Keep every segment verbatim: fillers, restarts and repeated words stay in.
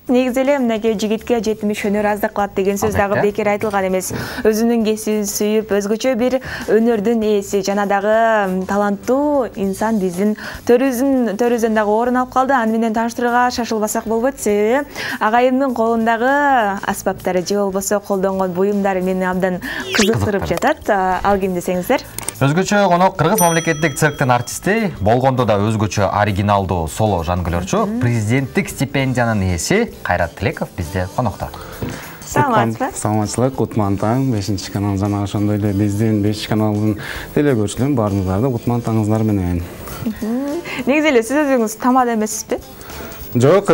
негизи эле мынакей жигитке жетимиш өнөр аздык кылат деген сөз дагы бекер айтылган эмес. Өзүнүн кесибин сүйүп, өзгөчө бир өнөрдүн ээси жана дагы таланттуу инсан биздин төрүбүздүн төрүбүздөн дагы орун алып калды. Аны менен тааныштырууга шашылбасак болбойт, себеби агайымдын колундагы аспаптары же болбосо колдонгон буюмдары мени абдан кызыктырып жатат. Ал ким десеңиздер? Өзгөчө конок кыргыз мамлекеттик цирктин артисти, болгондо да өзгөчө оригиналдуу соло жонглёрчу, президенттик стипендиянын ээси Кайрат Тилеков бизде конокто. Саламатсызбы? Саламатчылык, Кутман таң, бешинчи канал жана ошондой эле биздин бешинчи каналдын телекөрүүчүлөрүн баарыңыздарды Кутман таңыңыздар менен. Негизи эле сиз өзүңүз тамада эмессизби? Жок,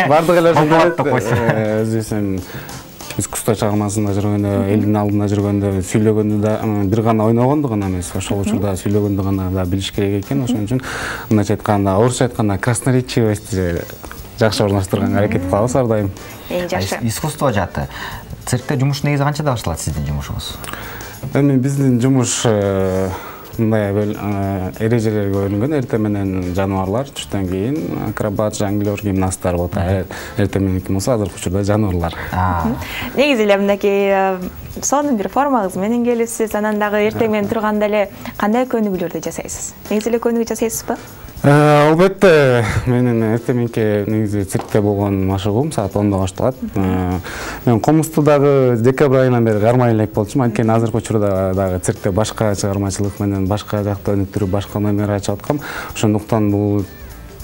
бардык эле ошондой өзүбүздүн искусство чыгармасында жүргөндө, элдин алдында жүргөндө, сүйлөгөндө да бир гана ойногондо гана эмес, ошол учурда сүйлөгөндө гана да билиш керек экен. Ошон үчүн мындайча айтканда, орусча айтканда красноречивость жакшы орноштурганга аракет кылабыз ар дайым. Эң жакшы. Искусство жаты. Циркте жумуш негизи канчада башталат сиздин жумушуңуз? Эми биздин жумуш мындай эрежелерге бөлүнгөн. Эртең менен жаныбарлар, түштөн кийин акробат, жонглёр, гимнасттар болот. Эртең мененки болсо азыркы учурда жаныбарлар. Негизи эле мындайкей сонун бир формаңыз менен келипсиз. Анан дагы эртең менен турганда эле кандай көнүгүүлөрдү жасайсыз? Негизи эле көнүгүү жасайсызбы? Албетте, менин эртең мененки негизи циркте болгон машыгуум саат ондо башталат. Мен комузду дагы декабрь айынан бери кармай элек болчумун. Анткени азыркы учурда дагы циркте башка чыгармачылык менен башка жакта өнүктүрүп, башка номер ачып аткам. Ошондуктан бул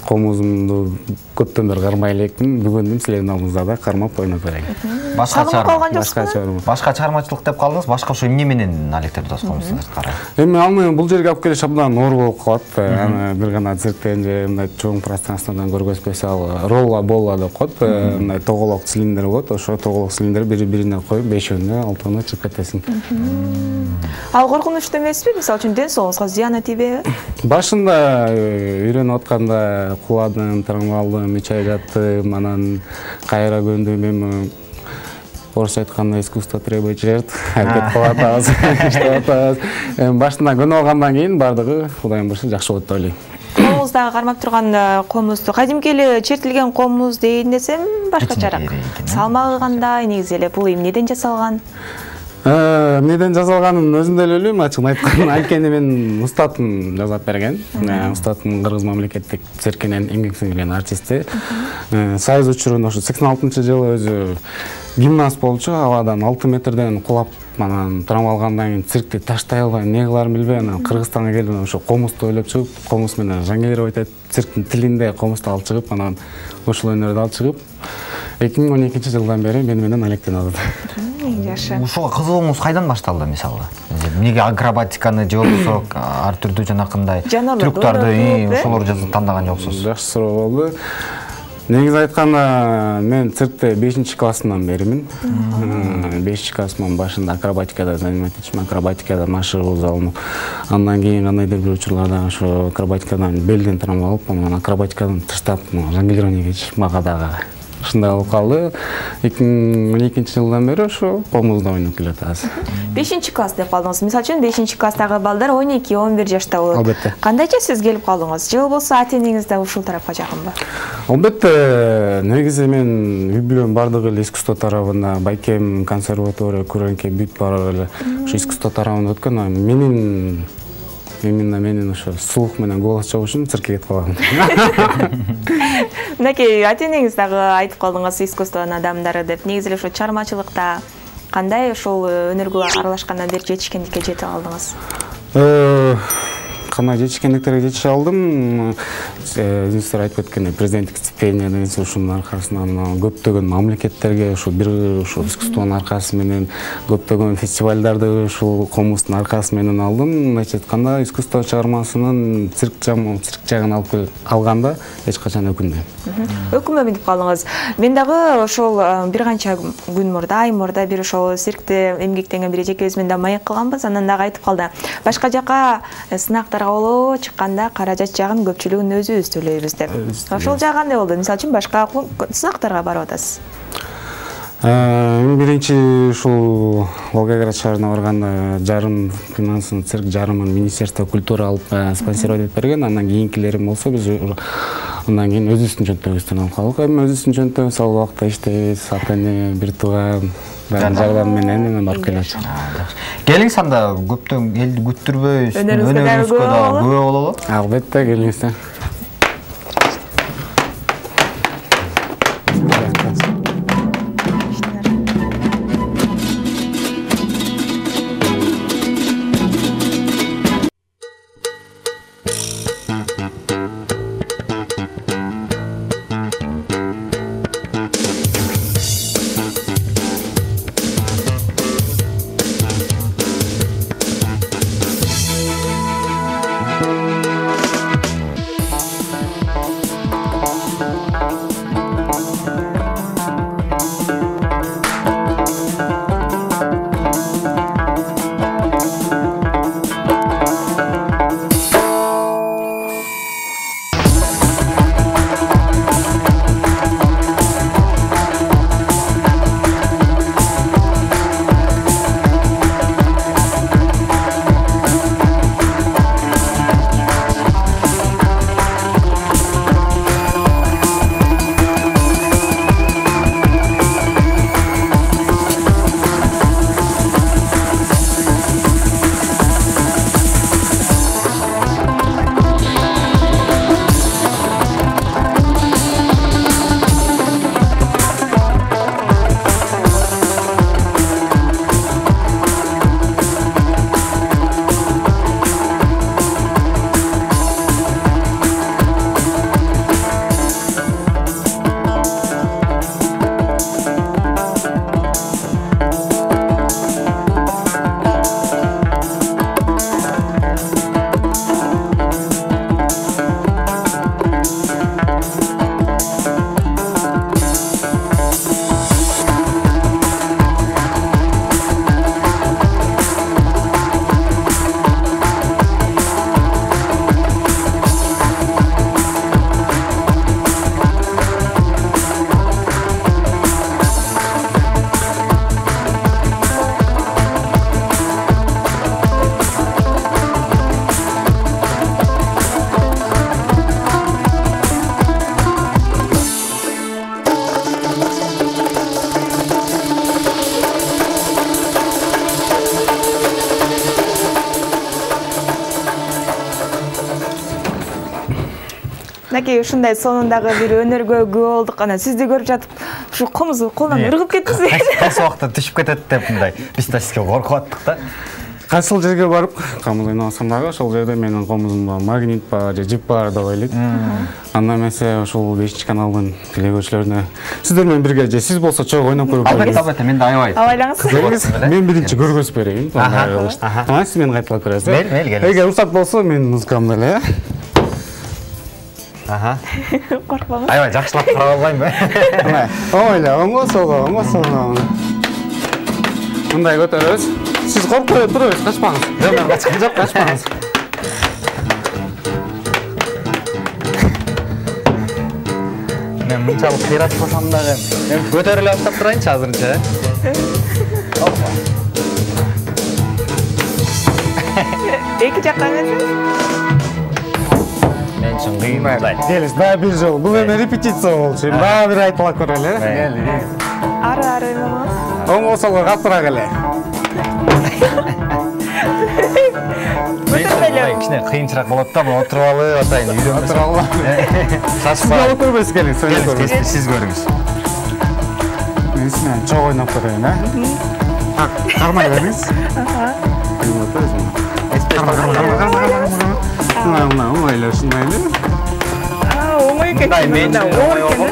комузумду көптөн бери кармай элекмин. Бүгүн силердин алдыңызда да кармап ойноп берейин. Башка чыгарма, башка чыгармачылык деп калдыңыз. Башка ошо эмне менен алектер дос комузду сырткары? Эми аны бул жерге алып келиш абдан оор болуп калат. Аны бир гана цирктен же мындай чоң пространстводан көргөзбөсө, ал ролла болла деп коет. Мындай тоголок цилиндр болот. Ошо тоголок цилиндр бири-бирине коюп бешөөнө, алтыны чыгып кетесиң. Ал коркунучтуу эмеспи? Мисалы үчүн ден соолугуңузга зыяны тийбейби? Башында үйрөнүп атканда куладым, травмалдым, үч ай жаттым, анан кайра көндүм. Эми орусча айтканда искусство требует жертв. Аракет кылып атабыз, иштеп атабыз. Эми башында көнүп алгандан кийин бардыгы Кудайдын буйругу жакшы болот деп ойлойм. Колуңуздагы кармап турган комузду кадимки эле чертилген комуз дейин десем башкачараак. Салмагы кандай, негизи эле бул эмнеден жасалган? Эмнеден жасалганын өзүм деле билбейм, ачыгын айтканда. Анткени мен устатым жасап берген. Устатым Кыргыз мамлекеттик циркинин эмгек сиңирген артисти. Союз учурунда ошо сексен алтынчы жылы өзү гимнаст болчу, абадан алты метрден кулап, анан травма алгандан кийин циркти таштай албай, эмне кыларын билбей, анан Кыргызстанга келип, ошо комузду ойлоп чыгып, комуз менен жонглировать этип, цирктин тилинде комузду алып чыгып, анан ушул өнөрдү алып чыгып, эки миң он экинчи жылдан бери мени менен алектенип атат. Жакшы. Ушуга кызыгууңуз кайдан башталды, мисалы? Эмнеге акробатиканы же болбосо ар түрдүү жанакындай трюктарды, ошолорду тандаган жоксуз? Жакшы суроо болду. Негизи айтканда, мен циркте бешинчи классымдан беримин. бешинчи классымдын башында акробатикада занимать этчүмүн, акробатикада машыгуу залынып. Андан кийин кандайдыр бир учурларда ошо акробатикадан белден травма алып, анан акробатикадан таштап, жонглированиеге чыгып, мага дагы ушундай болуп калды. эки миң он экинчи жылдан бери ошо комузда ойноп келатабыз. бешинчи класс деп калдыңыз. Мисалы үчүн бешинчи класстагы балдар он эки он бир жашта болот. Албетте. Кандайча сиз келип калдыңыз? Же болбосо ата-энеңиз да ушул тарапка жакынбы? Албетте, негизи мен үй бүлөм бардыгы эле искусство тарабында, байкем консерватория, көрөнке бүт баары эле ошо искусство тарабында өткөн. Менин именно менин ошо слух менен голос чыгуу үчүн циркке кетип калгам. Мынакей ата-энеңиз дагы айтып калдыңыз искусствонун адамдары деп. Негизи эле ошо чыгармачылыкта кандай ошол өнөргө аралашкандан бери жетишкендикке жете алдыңыз? Кандай жетишкендиктерге жетише алдым. Өзүңүздөр айтып өткөндөй, президенттик стипендия ушунун аркасынан көптөгөн мамлекеттерге ушул бир ушул искусствонун аркасы менен көптөгөн фестивалдарды ушул комуздун аркасы менен алдым. Мындайча айтканда, искусство чыгармасынын цирк жагын алып алганда эч качан өкүнбөйм. Өкүнбөйм деп калдыңыз. Мен дагы ошол бир канча күн мурда, ай мурда бир ошол циркте эмгектенген бир эжекебиз менен да маек кылганбыз. Анан дагы айтып калды. Башка жака сынактарга боло чыкканда каражат жагын көпчүлүгүн өзүбүз төлөйбүз деп. Ошол жагы кандай болду? Мисалы үчүн башка сынактарга барып атасыз. Эми биринчи ушул Волгоград шаарына барганда жарым финансын цирк жарымын Министерство культуры алып спонсировать этип берген. Андан кийинкилерим болсо биз Андан кийин өзүбүздүн жөнтөгүбүздөн алып калдык. Эми өзүбүздүн жөнтөгүбүз ал убакта иштейбиз. Ата-эне, бир тууган баардык жардам менен эми барып келет. Келиңиз анда көптөн элди күттүрбөй, өнөрүңүзгө да күбө бололу. Албетте келиңиздер. Мынакей ушундай сонундагы бир өнөргө күбө болдук. Анан сизди көрүп жатып, ушу комузу колдон ыргып кеттиңиз. Кайсы убакта түшүп кетет деп мындай биз да сизге коркуп аттык да. Кайсыл жерге барып, комуз ойносом дагы ошол жерде менин комузумда магнит бар же жип бар деп ойлойт. Анда эмесе ошол бешинчи каналдын телекөрүүчүлөрүнө сиздер менен бирге же сиз болсо чогуу ойноп көрүп албетте, албетте, мен да аябай. Абайлаңыз. Мен биринчи көргөзүп берейин. Ага, сиз мени кайталап көрөсүз. Мейли, мейли, келиңиз. Эгер уруксат болсо менин музыкамды эле. Ага. Коркпоңуз. Аябай жакшылап карап албаймынбы? Оңой эле, оңго солго, оңго солго. Мындай көтөрөбүз. Siz korkup duruyorsunuz, kaçmanız. Yok, ben kaçkım yok, kaçmanız. Ben mınçalık kıyratmasam da ben götörüle atıp durayınca hazırınca. Hoppa. Eki жаққа эмесиз? Men үшін кыймай. Келиңиз, дагы бир жолу. Бул эми репетиция болчу. Дагы бир айтылап көрөлү. Кели. Ары-ары ойногоңуз. Оңго солго калтырак эле. Кичине кыйынчыраак болот да, мына отуруп алып атайын, үйдөн отуруп алып. Сиз алып көрбөйсүз, келиңиз, ойлоп көрбөйсүз. Сиз көрүңүз. Мен сизден чогуу ойноп көрөйүн, а? Кармай бериңиз. Аха. Карма, карма, карма, карма, карма. Мына, мына, оңой эле, ушундай эле. А, оңой экен. Мындай мен үчүн оңой болгон.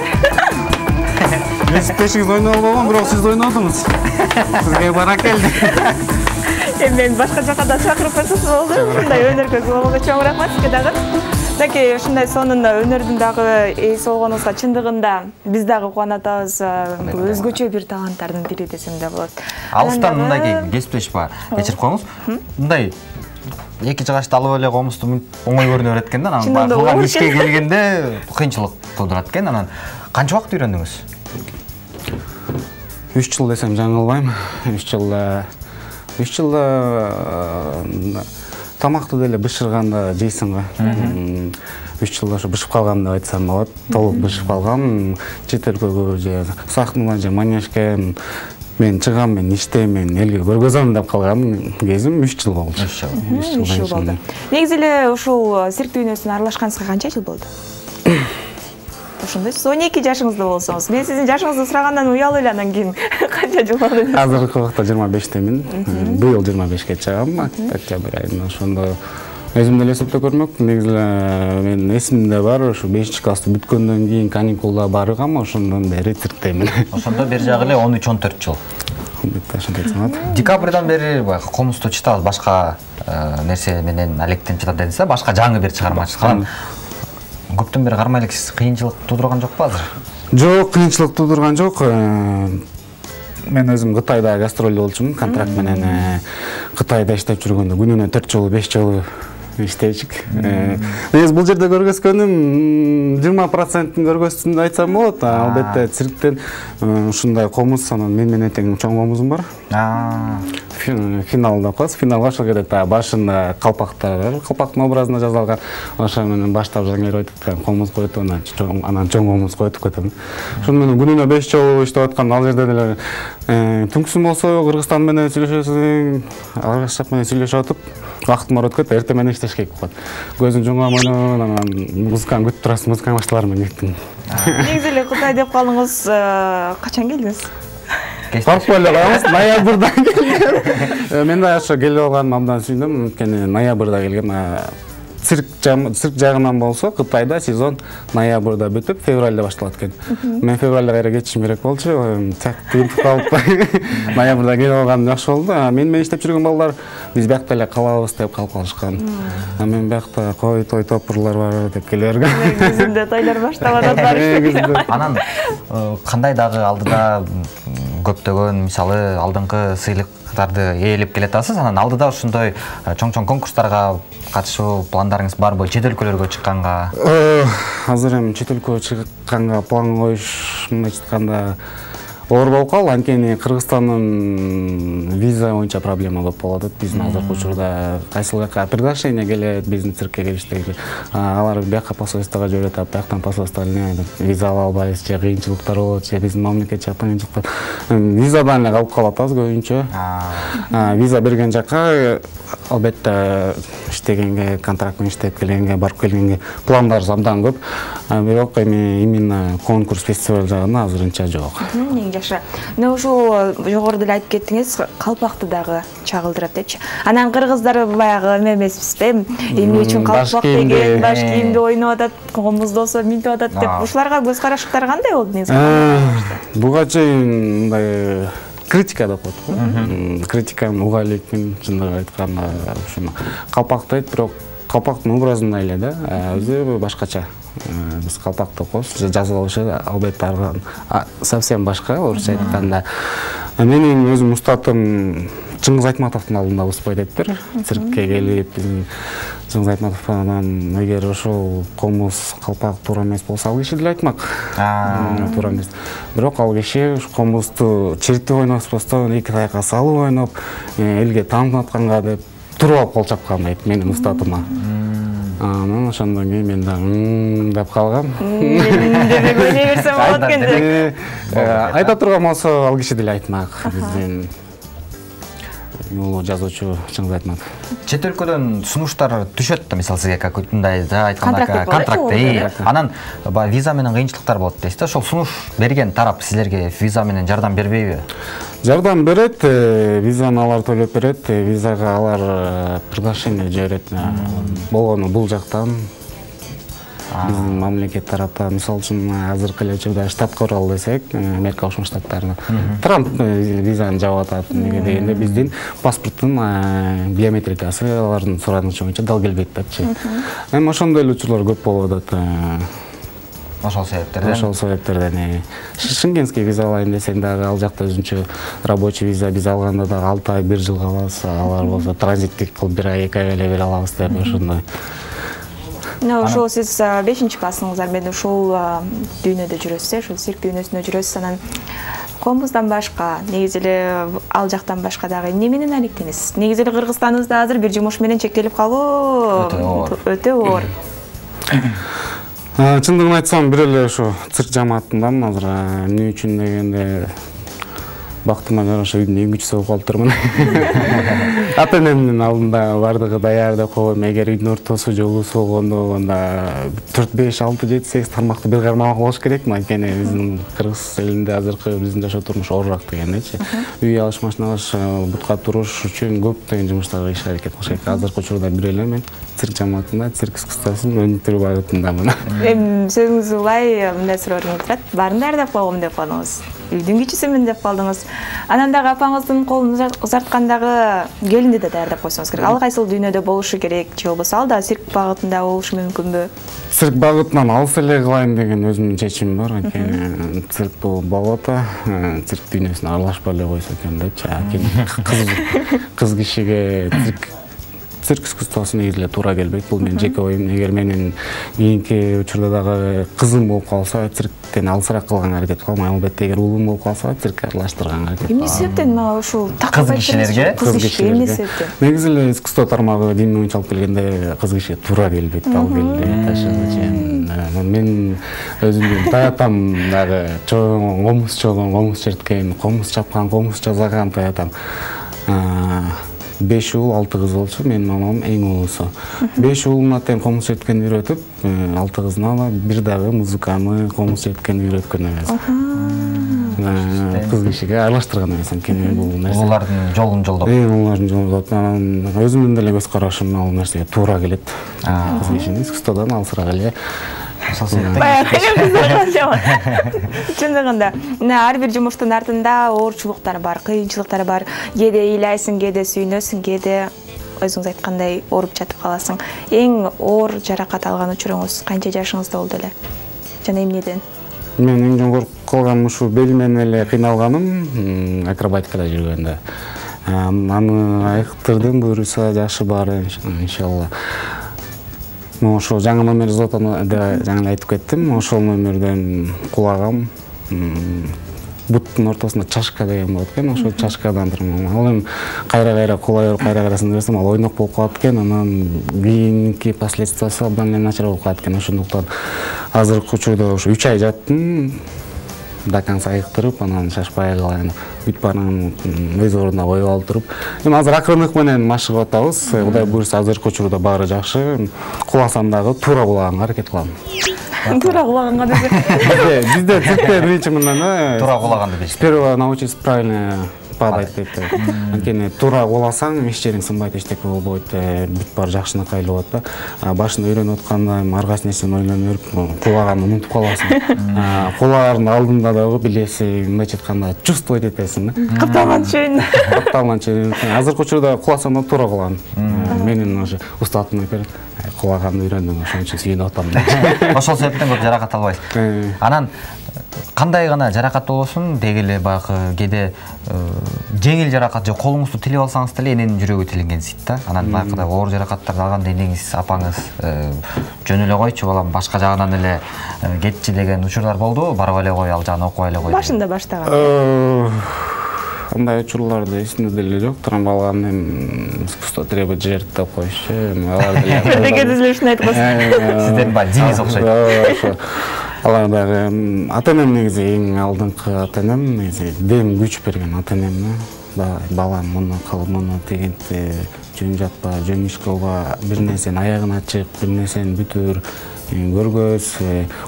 Мен сиздешиңиз ойноп албагам, бирок сиз ойнодуңуз. Сизге баракелди. Мен башка жака да чакырып койсоңуз болду. Ушундай өнөргө болгонго чоң рахмат сизге дагы. Мынакей ушундай сонунда өнөрдүн дагы ээси болгонуңузга чындыгында биз дагы кубанып атабыз. Бул өзгөчө бир таланттардын бири десем да болот. Алыстан мындай кесиптешип бар. Кечирип коюңуз. Мындай эки жыгачты алып эле комузду оңой көрүнө берет экен да, анан кылган ишке келгенде кыйынчылык туудурат экен. Анан канча убакыт үйрөндүңүз? үч жыл десем жаңылбайм. үч жылда үч жылда тамакты деле бышырганда жейсиң го. үч жылда ошо бышып калган деп айтсам болот. Толук бышып калгам. Чет өлкөгө же Сахнага же Манежге мен чыгам, мен иштейм, мен элге көргөзөм деп калган кезим үч жыл болду. үч жыл. үч жыл болду. Негизи эле ушул цирк дүйнөсүнө аралашканыңызга канча жыл болду? Ошондой сиз он эки жашыңызда болсоңуз, мен сиздин жашыңызды сурагандан уялып эле анан кийин канча жыл болду? Азыркы убакта жыйырма бештемин. Быйыл жыйырма бешке чыгам, октябрь айында. Ошондо өзүм деле эсептеп көрмөк. Негизи мен эсимде бар, ошо бешинчи классты бүткөндөн кийин каникулда баргам, ошондон бери цирктемин. Ошондо бери жагы эле он үч он төрт жыл. Декабрдан бери баягы комузду чытабыз, башка нерсе менен алектенип чытат дедиңиз, башка жаңы бир чыгарма чыккан. Көптөн бери кармай элексиз, кыйынчылык туудурган жокпу азыр? Жок, кыйынчылык туудурган жок. Мен өзүм Кытайда гастролдо болчумун, контракт менен Кытайда иштеп жүргөндө күнүнө төрт жолу, беш жолу иштейчик. Негизи бул жерде көргөзгөнүм жыйырма процентин көргөздүм деп айтсам болот. Албетте цирктен ушундай комуз, анан мен менен тең чоң комузум бар. Финалда коебуз. Финалга ошол керек та башында калпактар бар. Калпактын образына жасалган. Ошо менен баштап жаңыр өтүп комуз коюп, анан чоң анан чоң комуз коюп кетем. Ошону менен күнүнө беш жолу иштеп аткан ал жерде деле түнкүсүн болсо Кыргызстан менен сүйлөшөсүң, Аргашак менен сүйлөшүп атып, вакыт бар өткөт, эртең менен иштеш керек болот. Көзүң жумган менен анан музыканы күтүп турасың, музыканы башталар менен кеттим. Негизи эле Кытай деп калдыңыз, качан келдиңиз? Барып эле калабыз, ноябрда келгем. Мен да ошо келип алганым абдан сүйүндүм, анткени ноябрда келгем. Цирк цирк жагынан болсо Кытайда сезон ноябрда бүтүп, февралда башталат экен. Мен февралда кайра кетишим керек болчу, так тыгылып калып ноябрда келип алганым жакшы болду. Мен менен иштеп жүргөн балдар биз биякта эле калабыз деп калып калышкан. Мен биякта кой той топурлар бар деп келе бергем. Негизинде тойлор баштап атат. Анан кандай дагы алдыда көптөгөн, мисалы, алдыңкы сыйлыктарды ээлеп келатасыз, анан алдыда ушундай чоң-чоң конкурстарга катышуу пландарыңыз барбы? Чет өлкөлөргө чыкканга? Азыр эми чет өлкөгө чыкканга план коюш, мындайча айтканда, оор болуп калды. Анткени Кыргызстандын виза боюнча проблема көп болуп атат. Биздин азыркы учурда кайсыл жака приглашение келет, биздин циркке келиштеги. Алар бияка посольствого жиберет, бияктан посольство виза ала албайбыз, же кыйынчылыктар болот, же биздин мамлекет жактан кыйынчылыктар. Визадан эле калып калып атабыз көбүнчө. Виза берген жака албетте иштегенге, контракт менен иштеп келгенге, барып келгенге пландарыбыз абдан көп. Бирок эми именно конкурс, фестиваль жагына азырынча жок. Жакшы. Мына ушул жогоруда эле айтып кеттиңиз, калпакты дагы чагылдырат депчи. Анан кыргыздар баягы эме эмеспизби? Эмне үчүн калпак деген, баш кийимди ойноп атат, комуз болсо минтип атат деп. Ушуларга көз карашыңыздар кандай болду негизи? Буга чейин мындай критика деп коет го. Критиканы уга элекмин, чындыгын айтканда, ушуну калпактайт, бирок калпактын образында эле да, өзү башкача. Биз калпакты коебуз, жазып алышы албетте совсем башка, орусча айтканда. Менин өзүм устатым Чыңгыз Айтматовдун алдында успай дептир. Циркке келип, биздин Чыңгыз Айтматов анан эгер ошол комуз, калпак туура эмес болсо, ал киши деле айтмак. Туура эмес. Бирок ал киши комузду чиртип ойноспостон, эки таякка салып ойноп, элге таанытып атканга деп туруп алып кол чапкан дейт менин устатыма. Анан ошондон кийин мен да деп калгам. Демек ойной берсем болот экен деп. Айта турган болсо, ал киши деле айтмак. Биздин улуу жазуучу Чыңгыз Айтматов. Чет өлкөдөн сунуштар түшөт да, мисалы сизге как мындай да айтканда контракт. Анан виза менен кыйынчылыктар болот дейсиз да. Ошол сунуш берген тарап силерге виза менен жардам бербейби? Жардам берет, визаны алар төлөп берет, визага алар приглашение жиберет. Болгону бул жактан, биздин мамлекет тараптан, мисалы үчүн азыркы эле учурда штатка баралы десек, Америка Кошмо Штаттарына Трамп визаны жабып атат. Неге дегенде биздин паспорттун биометрикасы алардын суранычы боюнча дал келбейт депчи. Эми ошондой эле учурлар көп болуп атат. Ошол себептерден. Ошол себептерден. Шенгенский виза алайын десең дагы ал жакта өзүнчө рабочий виза биз алганда дагы алты ай, бир жылга алабыз. Алар болсо транзиттик кылып бир ай, эки ай эле бере алабыз деп ошондой. Мына ошол сиз бешинчи классыңыздар менен ушул дүйнөдө жүрөсүз, ушул цирк дүйнөсүндө жүрөсүз. Анан комуздан башка, негизи эле ал жактан башка дагы эмне менен алектенесиз? Негизи эле Кыргызстаныбызда азыр бир жумуш менен чектелип калуу өтө оор. Чындыгын айтсам, бир эле ошо цирк жамаатындамын азыр. Эмне үчүн дегенде бактыма жараша үйдүн эң кичүүсү болуп калыптырмын. Ата-энемдин алдында бардыгы даяр деп коем. Эгер үйдүн ортосу же улуусу болгондо, анда төрт беш алты жети сегиз тармактуу бир кармак болуш керек. Анткени биздин кыргыз элинде азыркы биздин жашоо турмушу оорураак дегендечи. Үй алыш, машина алыш, бутка туруш үчүн көптөгөн жумуштарга иш аракет кылыш керек. Азыркы учурда бир эле мен цирк жамаатында цирк искусствосун өнүктүрүү багытындамын. Эми сөзүңүз улай мындай суроо келип турат. Баарын даярдап койгом деп калдыңыз. Үйдүн кичүүсүмүн деп калдыңыз. Анан дагы апаңыздын колун узарткандагы келинди да даярдап койсоңуз керек. Ал кайсыл дүйнөдө болушу керек, же болбосо ал да цирк багытында болушу мүмкүнбү? Цирк багытынан алыс эле кылайын деген өзүмдүн чечимим бар. Анткени цирк бул болото, цирк дүйнөсүнө аралашпай эле койсо экен депчи. Кыз кишиге цирк цирк искусствосу негизи эле туура келбейт. Бул менин жеке оюм. Эгер менин кийинки учурда дагы кызым болуп калса, цирктен алысыраак кылганга аракет кылам. Албетте, эгер уулум болуп калса, циркке аралаштырганга аракет кылам. Эмне себептен мага ушул кыз кишилерге, кыз кишилерге эмне себептен? Негизи эле искусство тармагы дин боюнча алып келгенде кыз кишиге туура келбейт. Ал келбейт ташыгычы. Мен өзүмдүн таятам дагы чоң комуз чогон, комуз черткен, комуз чапкан, комуз жасаган таятам. беш уул, алты кыз болчу, менин мамам эң уулусу. беш уулуна тең комуз черткенди үйрөтүп, алты кызына бир дагы музыканы, комуз черткенди үйрөткөн эмес. Кыз кишиге аралаштырган эмес, анткени бул нерсе улардын жолун жолдоп. Улардын жолун жолдоп. Өзүмдүн деле көз карашым ал нерсеге туура келет. Кыз кишинин искусстводон алысыраак эле. Чындыгында ар бир жумуштун артында оорчулуктар бар, кыйынчылыктар бар. Кээде ыйлайсың, кээде сүйүнөсүң, кээде өзүңүз айткандай ооруп жатып каласың. Эң оор жаракат алган учуруңуз канча жашыңызда болду эле? Жана эмнеден? Мен эң жогорку кылганым ушу белимен эле кыйналганым, акробатикада жүргөндө. Аны айыктырдым, буюрса жашы бар, иншалла. Ошо жаңы номер зотаны да жаңы айтып кеттим. Ошол номерден кулагам. Буттун ортосунда чашка деген болот экен. Ошол чашкадан турмун. Ал эми кайра-кайра кулай берип, кайра-кайрасын берсем, ал ойнок болуп калат экен. Анан кийинки последствиясы абдан эле начар болуп калат экен. Ошондуктан азыркы учурда ошо үч ай жаттым. До конца айыктырып, анан шашпай калайын. Бүт баарын өз ордуна коюп алып туруп. Эми азыр акырындык менен машыгып атабыз. Кудай буйрса азыркы учурда баары жакшы. Куласам дагы туура кулаганга аракет кылам. Туура кулаганга десе. Бизде циркте биринчи мындан туура кулаганды дейт. Сперва научиться правильно падать дейт. Анткени туура куласаң, иш жериң сынбайт, эчтеке болбойт, бүт баары жакшынакай болот да. Башында үйрөнүп атканда аргас нерсени ойлонуп, кулаганды унутуп каласың. Кулаардын алдында дагы билеси, мындай айтканда, чувствовать этесиң да. Капталган чөйүн. Капталган чөйүн. Азыркы учурда куласам да туура кулаган. Менин ошо устатым айтат, кулаганды үйрөндүм, ошон үчүн сүйүнүп атам. Ошол себептен көп жаракат албайсыз. Анан кандай гана жаракат болбосун, деги эле баягы кээде жеңил жаракат же колуңузду тилип алсаңыз деле эненин жүрөгү тилингенсийт да. Анан баягыдай оор жаракаттарды алганда энеңиз, апаңыз жөн эле койчу балам, башка жагынан эле кетчи деген учурлар болдубу? Барып эле кой, ал жагын окуй эле кой. Башында баштаган. Андай учурларды эсимде деле жок. Трамбалган эми искусство требует жертв деп коюшчу. Алар деле. Бирдеге түзүлүшүн айтып койсуң. Сиздер баягы Денис окшойт. Алар дагы ата-энем негизи эң алдыңкы ата-энем, негизи дем күч берген ата-энем. Балам муну кыл, муну тегенти жөн жатпа, жөн иш кылба, бир нерсени аягына чык, бир нерсени бүтүр, көргөз,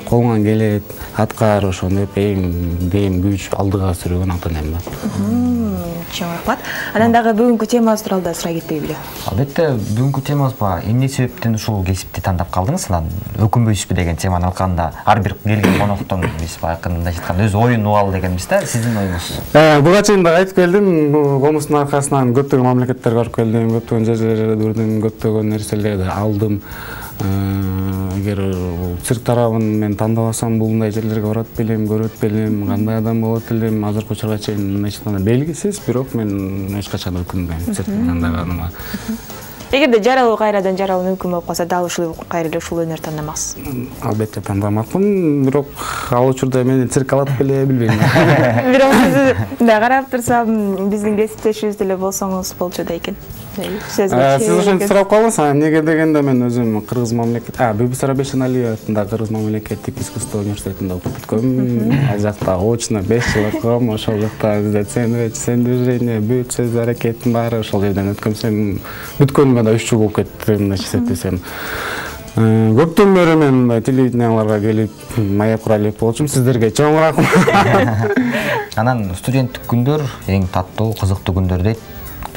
колуңан келет, аткар, ошону деп эң дем күч алдыга сүргөн ата-энем да. Чоң рахмат. Анан дагы бүгүнкү темабыз тууралуу да сурай кетпейбизби? Албетте, бүгүнкү темабыз ба, эмне себептен ушул кесипти тандап калдыңыз? Анан өкүнбөйсүзбү деген теманы алганда, ар бир келген коноктон биз баягы мындай айтканда өз оюн угуп ал дегенбиз да. Сиздин оюңуз? Буга чейин да айтып келдим, комуздун аркасынан көптөгөн мамлекеттерге барып келдим, көптөгөн жерлерде жүрдүм, көптөгөн нерселерди алдым. Эгер цирк тарабын мен тандабасам, булундай жерлерге барат белем, көрөт белем, кандай адам болот элем, азыркы учурга чейин мындай айтканда белгисиз, бирок мен эч качан өкүнбөйм циркти тандаганыма. Эгерде жаралуу кайрадан жаралуу мүмкүн болуп калса, дал ушул кайра эле ушул өнөр тандамаксыз? Албетте тандамакмын, бирок ал учурда мени цирк алат беле билбейм. Бирок сиз мындай карап турсам, биздин кесиптешибиз деле болсоңуз болчу да экен. Сиз ошентип сурап калдыңыз, эмнеге дегенде мен өзүм кыргыз мамлекет, Бибисара Бейшеналиева атындагы Кыргыз мамлекеттик искусство университетинде окуп бүткөм. Ал жакта очно беш жыл окугам, ошол жакта бизде цен движение, бүт сөз аракеттин баары ошол жерден өткөм. Сен бүткөнүмө да үч жыл болуп кетти, мындайча эсептесем. Көптөн бери мен телевиденияларга келип маек кура элек болчумун. Сиздерге чоң рахмат. Анан студенттик күндөр эң таттуу, кызыктуу күндөр дейт.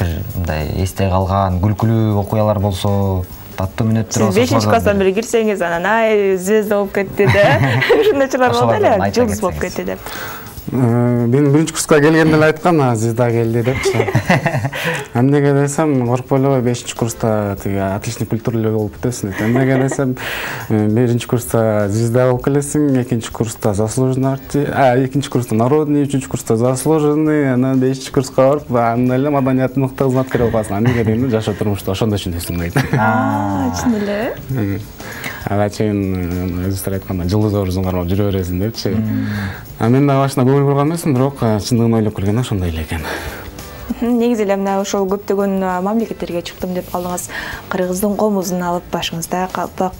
Бир мындай эсте калган күлкүлүү окуялар болсо, таттуу мүнөттөр болсо. Сиз бешинчи класстан бери кирсеңиз, анан ай звезда болуп кетти да. Ушундайчылар болду эле, жылдыз болуп кетти деп. Мен биринчи курска келгенде эле айткан, звезда келди депчи. Эмнеге десем, коркпой эле бешинчи курста тиги отличный культурлуу болуп кетесиң дейт. Эмнеге десем, биринчи курста звезда болуп келесиң, экинчи курста заслуженный артист, а экинчи курста народный, үчүнчү курста заслуженный, анан бешинчи курска барып, анда эле маданияттын мыкты кызматкери болуп каласың. Эмнеге дегенде жашоо турмушта ошондо түшүнөсүң дейт. А, чын эле. Ага чейин өзүңөр айткандай жылдыз образын кармап жүрө бересиң депчи. А мен да башында көңүл бурган эмесмин, бирок чындыгын ойлоп келгенде ошондой эле экен. Негизи эле мына ошол көптөгөн мамлекеттерге чыктым деп калдыңыз. Кыргыздын комузун алып башыңызда калпак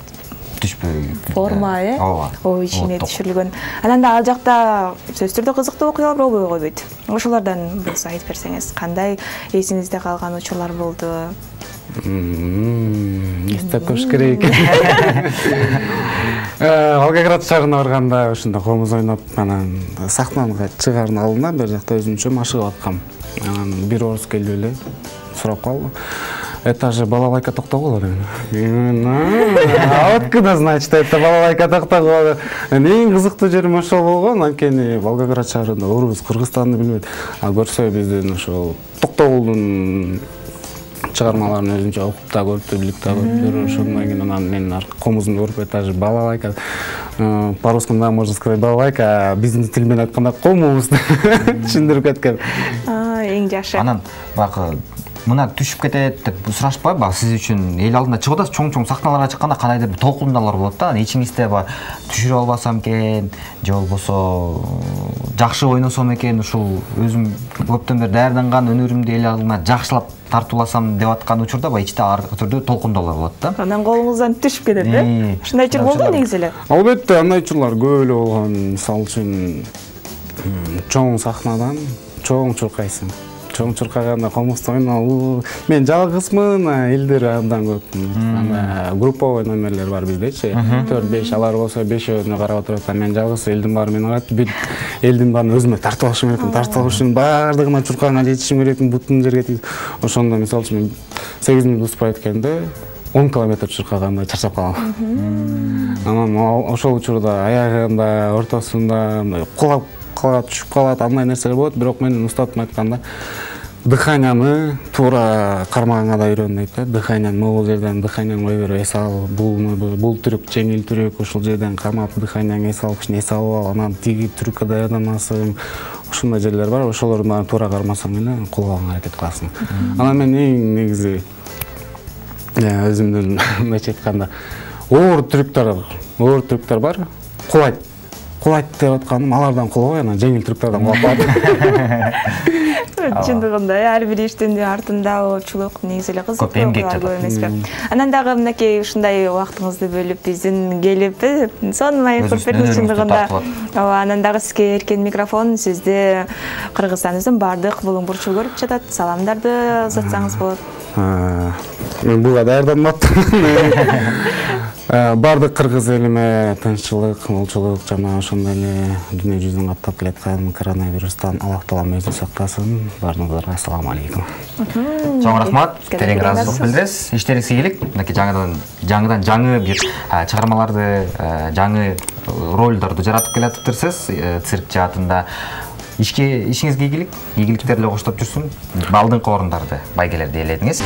түшпөй форма, э? Ой, ичине түшүрүлгөн. Анан да ал жакта сөзсүз түрдө кызыктуу окуялар болбой койбойт. Ошолордон болсо айтып берсеңиз, кандай эсиңизде калган учурлар болду? Эстеп көрүш керек. Волгоград шаарына барганда ушунда комуз ойноп, анан сахнага чыгардын алдында бер жакта өзүмчө машыгып аткам. Анан бир орус келип эле сурап калды. Этаже балалайка токтогула деген. А откуда знать, что это балалайка токтогула? Эң кызыктуу жерим ошол болгон, анткени Волгоград шаарында орус Кыргызстанды билбейт. А көрсө биздин ошол Токтогулдун чыгармаларын өзүнчө окуп да көрүп, билип да көрүптүр. Ошондон кийин анан мен комузумду көрүп этаже балалайка, по-русски можно сказать балалайка, биздин тил менен айтканда комуз түшүндүрүп кеткен. Эң жакшы. Анан бакы мына түшүп кетет деп сурашпайбы? Сиз үчүн эл алдына чыгып атасыз, чоң-чоң сахналарга чыкканда кандайдыр бир толкундалар болот да. Ичиңизде ба түшүрүп албасам экен, же болбосо жакшы ойносом экен, ушул өзүм көптөн бери даярданган өнөрүмдү эл алдына жакшылап тартууласам деп аткан учурда ба ичте ар түрдүү толкундалар болот да. Анан колуңуздан түшүп кетет, э? Ушундай учур болду негизи эле. Албетте, андай учурлар көп эле болгон. Мисалы үчүн чоң сахнадан чоң чуркайсың. Чоң чуркаганда комузду ойноо, мен жалгызмын, элдер абдан көп. Анда групповой номерлер бар биздечи. төрт беш алар болсо бешөөнү карап отурат, мен жалгыз элдин баары мени карайт. Бир элдин баарын өзүмө тартып алышым керек, тартып алыш үчүн баардыгына чуркагына жетишим керек, бутун жерге тийип. Ошондо мисалы үчүн мен сегиз минут успай эткенде он километр чуркаганда чарчап калам. Анан ошол учурда аягында, ортосунда кулап калат, түшүп калат, андай нерселер болот, бирок менин устатым айтканда дыханияны туура кармаганга да үйрөн дейт да. Дыханияны могул жерден дыханияны кой берип эс ал, бул түрүк жеңил түрүк, ошол жерден кармап дыханияңы эс алып, эс алып ал, анан тиги түрүккө даярданасың. Ошондой жерлер бар, ошолорду туура кармасаң эле кулганга аракет кыласың. Анан мен эң негизи өзүмдүн мынча айтканда оор түрүктөр, оор түрүктөр бар, кулайт. Кулайт деп атканым, алардан кулабай, анан жеңил түрүктөрдөн кулап. Чындыгында ар бир иштин артында оочулук, негизи эле кызыктуу окуялар көп эмеспи? Анан дагы мынакей ушундай убактыңызды бөлүп биздин келип, сонун маек куруп бердиңиз чындыгында. Ооба, анан дагы сизге эркен микрофон, сизди Кыргызстандын бардык булуң бурчу көрүп жатат. Саламдарды узатсаңыз болот. Мен буга даярданмаптым. Бардык кыргыз элиме тынччылык, молчулук жана ошондой эле дүйнө жүзүн каптап келаткан коронавирустан Аллах Таалам өзү сактасын. Баарыңыздарга ассаламу алейкум. Чоң рахмат. Терең ыраазычылык билдиресиз. Иштериңизге ийгилик. Мынакей жаңыдан жаңыдан жаңы бир чыгармаларды, жаңы ролдорду жаратып келатыптырсыз цирк жаатында. Ишке ишиңизге ийгилик, ийгиликтер эле коштоп жүрсүн. Алдыңкы орундарды, байгелерди ээледиңиз.